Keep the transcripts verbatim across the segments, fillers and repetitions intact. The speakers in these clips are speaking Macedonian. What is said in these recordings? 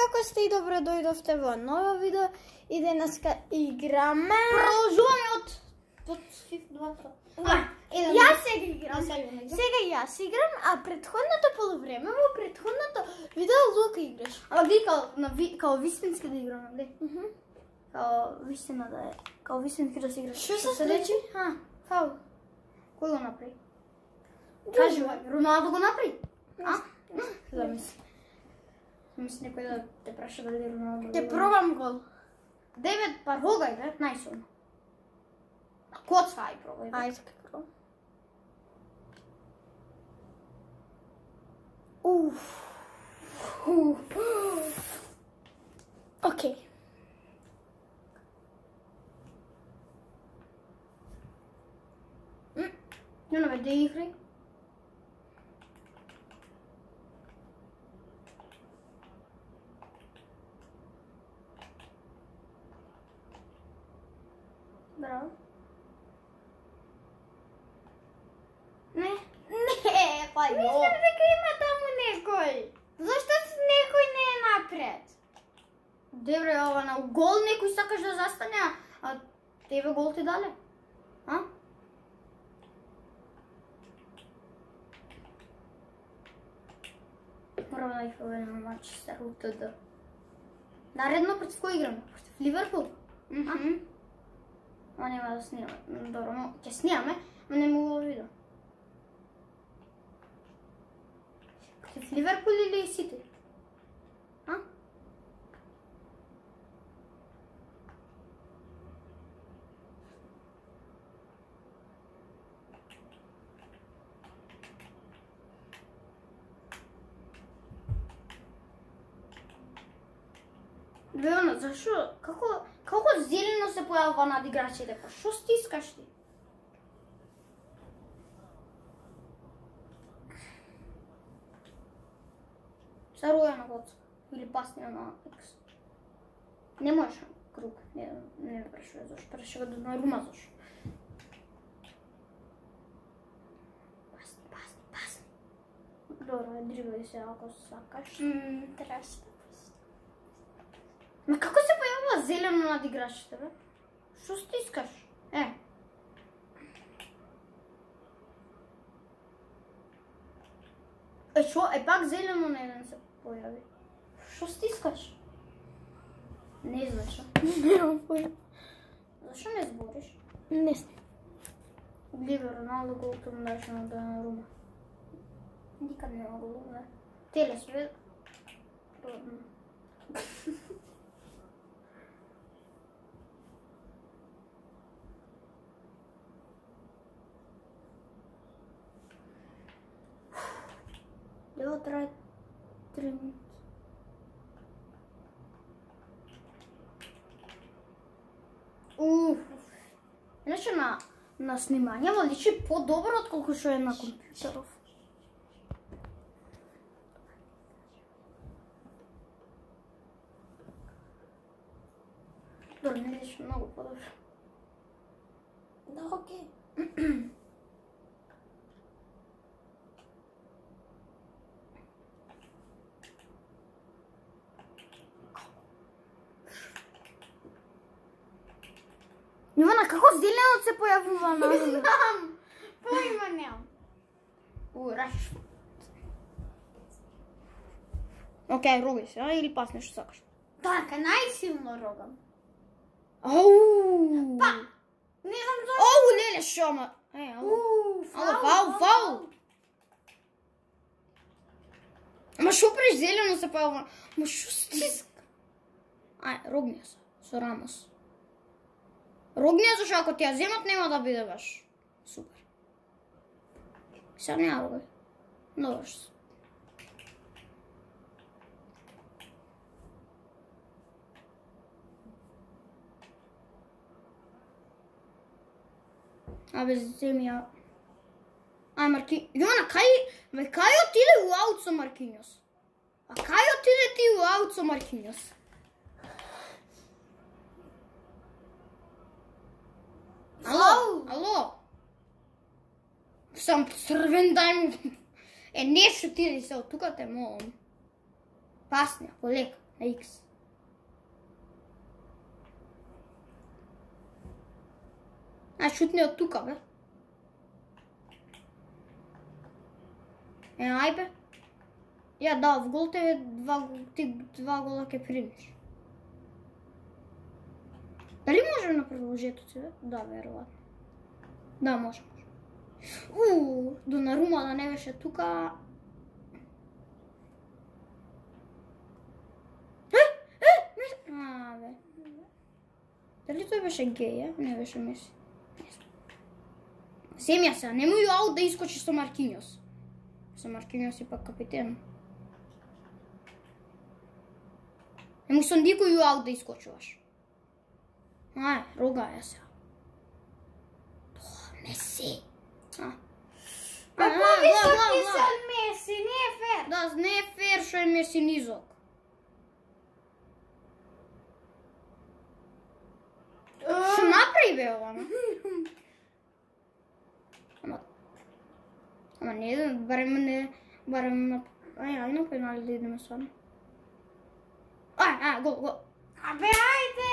како сте и добро дојдовте во ново видео и денеска играме. Продолжуваме од од два. Јас сега играм. Сега јас играм, а претходното полувреме во претходното видео Лука играш. Ама ви као на ви као вистински да играме, нели? Мхм. Као вистина да е, као вистински да се играш. Што се случи? А, фаул. Кој го направи? Кажи ме, Роналдо го направи? А? Замисли. Мисли некој да те праша дали Роналдо. Те пробам гол. Девет пар хогај, бе, најсилно. Коца, ај пробај. Ајде ке пробам. Уф. Океј. Не, не, да играј. Браво. Не, не, па јо. Мислам дека има таму некој. Зашто некој не е напред? Добре, ова на гол некој сакаш да застане, а тебе гол ти дале? А? Морам да их поведем на Манчестер УТД. Наредно против кој играме? Против Ливерпул? Мхм. Ама нема да снимаме. Добро, но ќе снимаме, но не мога да видам. Против Ливерпул или Сити? А? Леона, зашо? Како, како зелено се појавува над играчите? Па шо стискаш ти? Саруја на коцка. Или пасния на екс. Не можеш круг. Не, не ме прашува зашо. Прашува да на рума зашо. Пасни, пасни, пасни. Добро, дрибај се ако сакаш. Мм, траш. Ма како се појавува зелено над играчите, бе? Шо стискаш? Е. Е, шо? Е, пак зелено на еден се појави. Шо стискаш? Не знаеш, а? Немам појма. Зашо не збориш? Не знам. Гливе Роналдо голто му даше на Донарума. Никад нема гол, бе. Теле све... Дело трае три минути. Уф. Иначе на, на снимањето личи по-добро отколку што е на компјутеров. Добро, не личи многу по-добро. Да, окей. Ивана, како зелено се појавува на Не знам. Појма немам. У, Рашфорд. Океј, ругај се, а, или пасне што сакаш. Така, најсилно рогам. Ау! Па, не знам зашто. Оу, леле, шо, ма... Е, ало. Уф, Ало, фаул, фаул. Ма шо преш зелено се појавува? Ма шо стиска? Ај, рогни се, со Рамос. Рогни зашо ако ти ја земат нема да биде баш супер. Сега не ја рогай. Добро што. Абе, земи ја... Ај, Марки... Јована, кај... Ме, кај отиде у аут со Маркињос? А кај отиде ти у аут со Маркињос? Ало, ало. Сам црвен дај му. Е, нешто ти се од тука те молам. Пасня, полека. На X. А шутни од тука, бе. Е, ај бе. Ја, да, в гол тебе два, ти два гола ке примиш. Дали може на продолжетоци, бе? Да, веројатно. Да, може, може. Уу, Донарума да не беше тука. Е, е, не... А, бе. Дали тој беше геј, е? Не беше Меси. Семја се, немој аут да искочи со Маркиньос. Со Маркиньос и пак капитен. Немој со никој аут да искочуваш. Ај, рога ја се. Тоа, Меси. А. Па повисок ти се од Меси, не е фер. Да, не е фер што е Меси низок. Што направи бе ова? Ама... Ама не, барем не... Барем на... Ај, ај на пенали да идеме сварно. Ај, ај, гол, гол. Абе, ајде.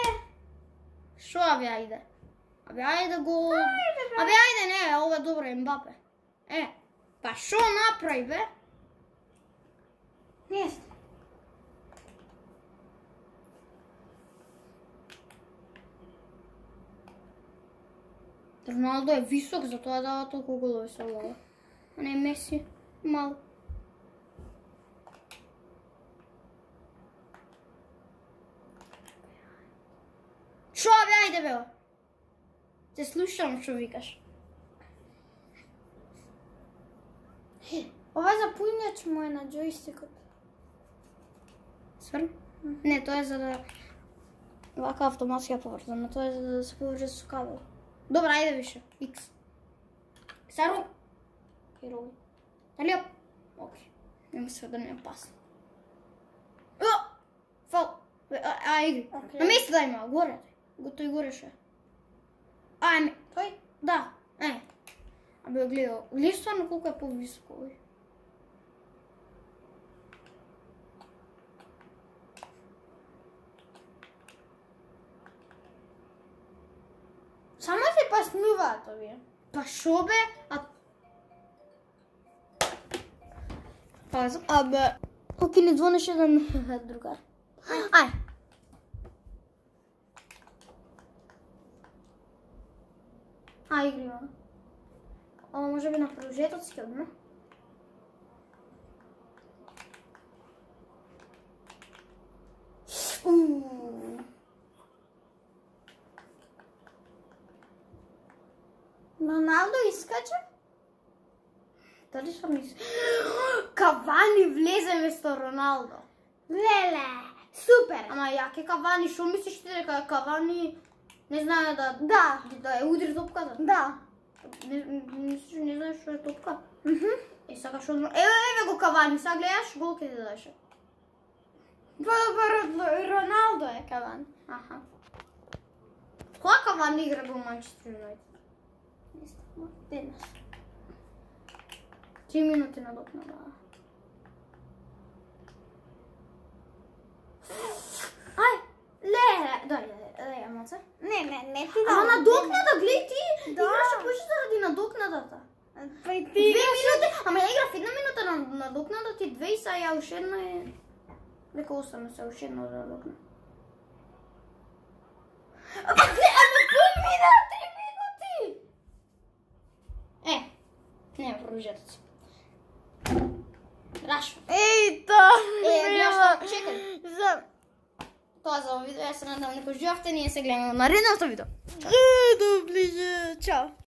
Шо абе, ајде? Абе, ајде гол. Абе, ајде, не, ова е добро, Ембапе. Е, па шо направи бе? Не знам. Роналдо е висок, затоа дава толку голови со глава. А не Меси, мал. Шо бе, ајде бе? Те слушам што викаш. Ова запујнеч му е на джойстикот. Сврн? Не, тоа е за да... Вака автоматски ја поврзам, но тоа е за да се поврже со кабел. Добра, ајде више. X. Сару. Херој. Дали ја? Окей. Нема се да не е опасно. О! Фал. А, а игри. Окей. На место да има, горе. Го тој гореше. Ајме. Тој? Да. Е. Абе, гледао. Гледао стварно колку е повисоко овој. Само се паснуваат овие. Па шо бе? А... Паза. Абе, Оки не звонеше еден другар. Ај. Ај, игри, ама. Ама може би на продолжетоци ќе одиме. Ууу. Роналдо искача? Дали што мисли? Кавани влезе место Роналдо. Леле, супер. Ама јаке Кавани, што мислиш ти дека Кавани не знае да Да, да ја удри топката? да. Не, мислиш, не знаеш што е топка? Мхм. Е, сакаш одма... Еве, еве го Кавани, сега гледаш, гол ке ти дадеше. По-добар од Роналдо е Кавани. Аха. Кога Кавани игра во Манчестер Юнайтед? Не знам, денес. Три минути надокнада. Ај, леле. Дај, дај, дај, маце. Не, не, не ти Ама дам. надокнада, гледај ти! Да. Играше повеќе заради надокнадата. Па и ти Две играш. минути, ама ја играв една минута на надокнада ти две и са ја уште една е... Дека остана се уште една да надокнада. Ама гледа, ама кој мина три минути? Е, не продолжетоци. Рашфорд. Еј, та, Е, знаеш што, чекај. За... Тоа за ово видео, ја се надам дека уживавте, ние се гледаме на наредното видео. Е, доближе, чао.